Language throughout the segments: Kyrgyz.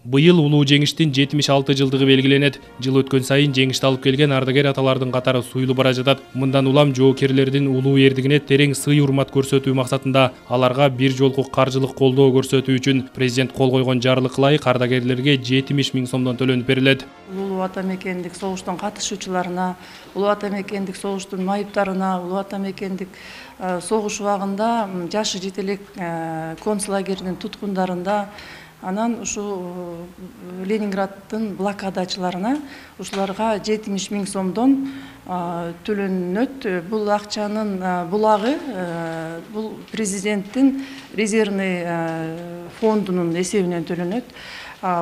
Быйыл улуу жеңиштин 76 жылдыгы белгиленет. Жыл өткөн сайын жеңишти алып келген ардагер аталардын катары суюлу бара жатат. Мындан улам жоокерлердин улуу эрдигине терең сый урмат көрсөтүү максатында аларга бир жолку каржылык колдоо көрсөтүү үчүн президент кол койгон жарлыкка ылайык ардагерлерге 70 000 сомдон төлөнүп берилет. Улуу ата мекендик согуштун катышуучуларына, улуу ата мекендик согуштун майыптарына, улуу ата мекендик согуш убагында жашы жете элек концлагердин туткундарында, анан ушу Ленинграддын блокадачыларына ушуларга 70 000 сомдон төлөнөт. Бул акчанын булагы бул президенттин резервный фондунун эсебинен төлөнөт.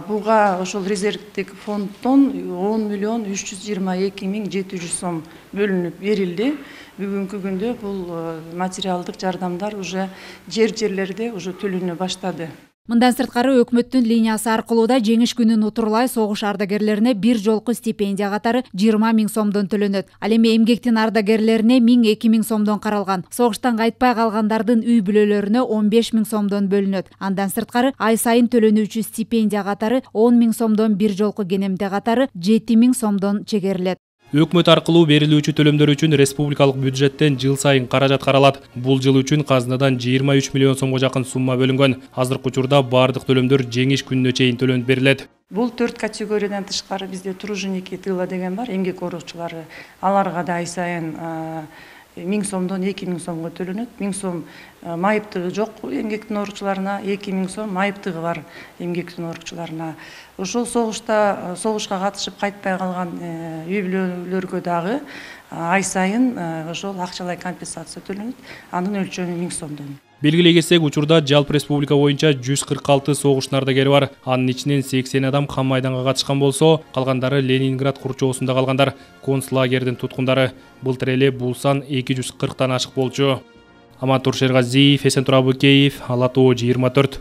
Буга ошол резервдик фонддон 10 322 700 сом бөлүнүп берилди. Бүгүнкү күндө бул материалдык жардамдар уже жерлерде уже төлөнө баштады. Мындан сырткары өкмөттүн линиясы аркылуу да жеңиш күнүн утурлай согуш ардагерлерине бир жолку стипендия катары 20 000 сомдон төлөнөт. Ал эми эмгектин ардагерлерине 1000-2 000 сомдон каралган. Согуштан кайтпай калгандардын үй бүлөлөрүнө 15 000 сомдон бөлүнөт. Андан сырткары ай сайын төлөнүүчү стипендия катары 10 000 сомдон, бир жолку кенемде катары 7 000 сомдон чегерилет. Өкмөт аркылуу берилүүчү төлөмдөр үчүн республикалык бюджеттен жыл сайын каражат каралат. Бул жыл үчүн казынадан 23 миллион сомго жакын сумма бөлүнгөн. Азыркы учурда бардык төлөмдөр жеңиш күнүнө чейин төлөнүп берилет. Бул 4 категориядан тышкары бизде труженики тыла деген бар, эмгек ооручулары. Аларга да ай сайын 1000 сомдон 2000 сомго төлөнөт. 1000 сом майыптыгы жок эмгектин ооручуларына, 2000 сом майыптыгы бар эмгектин ооручуларына. Ошол согушка катышып кайтпай калган үй бүлөлөргө дагы ай сайын ошол акчалай компенсация төлөнөт. Анын өлчөмү 1000 сомдон. Белгилей кетсек, учурда жалпы республика боюнча 146 согуштун ардагери бар. Анын ичинен 80 адам кам майданга катышкан болсо, калгандары Ленинград курчоосунда калгандар, концлагердин туткундары. Былтыр эле бул сан 240тан ашык болчу. Амантур Шергазиев, Эсентур Абыкеев, Ала Тоо 24.